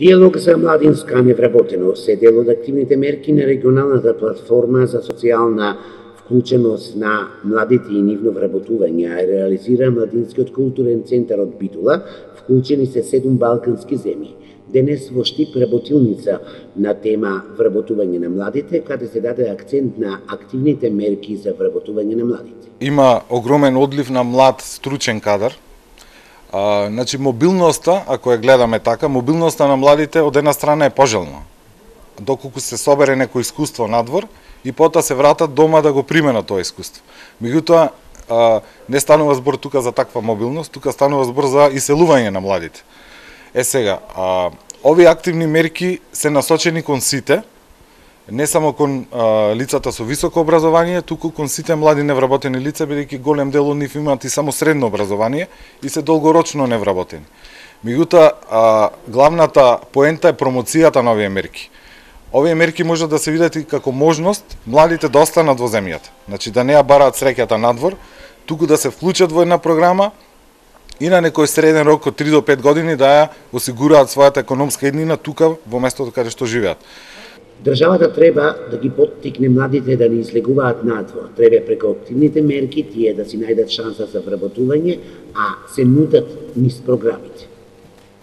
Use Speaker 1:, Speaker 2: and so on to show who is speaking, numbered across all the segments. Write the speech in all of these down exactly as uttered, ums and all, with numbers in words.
Speaker 1: Диалог за младинска невработеност е дел од активните мерки на регионалната платформа за социјална вклученост на младите и нивно вработување, а реализира Младинскиот културен центар од Битола, вклучени се седум балкански земји. Денес во Штип работилница на тема вработување на младите, каде се даде акцент на активните мерки за вработување на младите.
Speaker 2: Има огромен одлив на млад стручен кадар. А, значи, мобилноста, ако ја гледаме така, мобилноста на младите од една страна е пожелна. Доколку се собере некој искуство надвор и потоа се вратат дома да го применат тоа искуство. Меѓутоа, не станува збор тука за таква мобилност, тука станува збор за иселување на младите. Е сега, а, овие активни мерки се насочени кон сите, не само кон а, лицата со високо образование, туку кон сите млади невработени лица, бидејќи голем дел од нив имаат и само средно образование и се долгорочно невработени. Меѓутоа, главната поента е промоцијата на овие мерки. Овие мерки може да се видат и како можност младите да останат во земјата. Значи да не ја бараат среќата надвор, туку да се вклучат во една програма и на некој среден рок од три до пет години да ја осигураат својата економска еднина тука во местото каде што живеат.
Speaker 1: Државата треба да ги поттикне младите да не излегуваат надвор. Треба преку активните мерки тие да си најдат шанса за вработување, а се нудат низ програмите.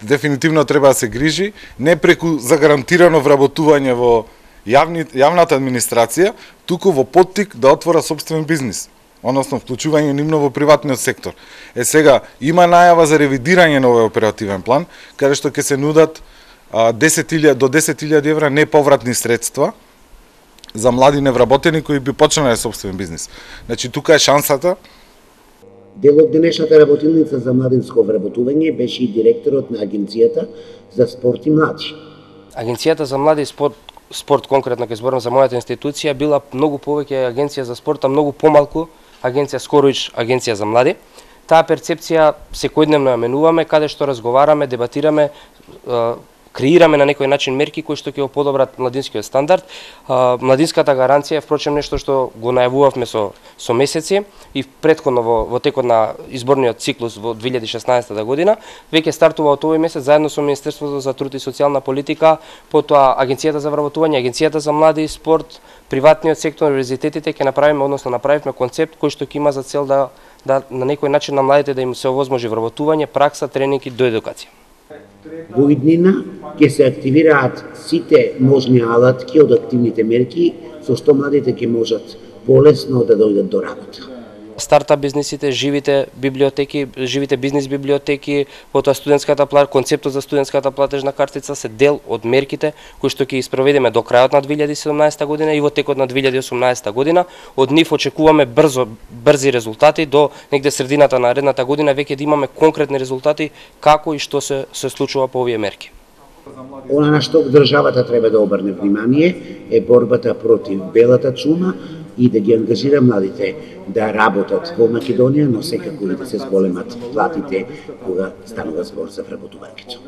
Speaker 2: Дефинитивно треба да се грижи не преку загарантирано вработување во јавни, јавната администрација, туку во поттик да отвора собствен бизнис, односно вклучување нивно во приватниот сектор. Е сега има најава за ревидирање на овој оперативен план, каде што ќе се нудат десет илјади до десет илјади евра неповратни средства за млади невработени кои би почнале собствен бизнис. Значи тука е шансата.
Speaker 1: Дел од денешната работилница за младинско вработување беше и директорот на Агенцијата за спорт и млади.
Speaker 3: Агенцијата за млади и спорт, спорт конкретно ќе зборам за мојата институција, била многу повеќе агенција за спорта, многу помалку агенција скороиш агенција за млади. Таа перцепција секојдневно ја менуваме, каде што разговараме, дебатираме, креираме на некој начин мерки кои што ќе го подобрат младинскиот стандард. Младинската гаранција е впрочем нешто што го најавувавме со со месеци и претходно во, во текот на изборниот циклус во две илјади и шеснаесета година, веќе стартува од овој месец заедно со Министерството за труд и социјална политика, потоа Агенцијата за вработување, Агенцијата за млади и спорт, приватниот сектор, универзитетите ќе направиме, односно направивме концепт кој што ќе има за цел да да на некој начин на младите да им се овозможи вработување, пракса, тренинг и доедукација.
Speaker 1: Во иднина ќе се активираат сите можни алатки од активните мерки со што младите ќе можат полесно да дојдат до работа.
Speaker 3: Стартап бизнисите, живите библиотеки, живите бизнис библиотеки, потоа студентската плата, концептот за студентската платежна картица се дел од мерките кои што ќе испроведеме до крајот на две илјади и седумнаесета година и во текот на две илјади и осумнаесета година. Од нив очекуваме брзо брзи резултати до негде средината на наредната година веќе да имаме конкретни резултати како и што се се случува по овие мерки.
Speaker 1: Она на што државата треба да обрне внимание е борбата против белата чума и да ги ангажира младите да работат во Македонија, но секако и да се зголемат платите кога станува збор за вработувањето.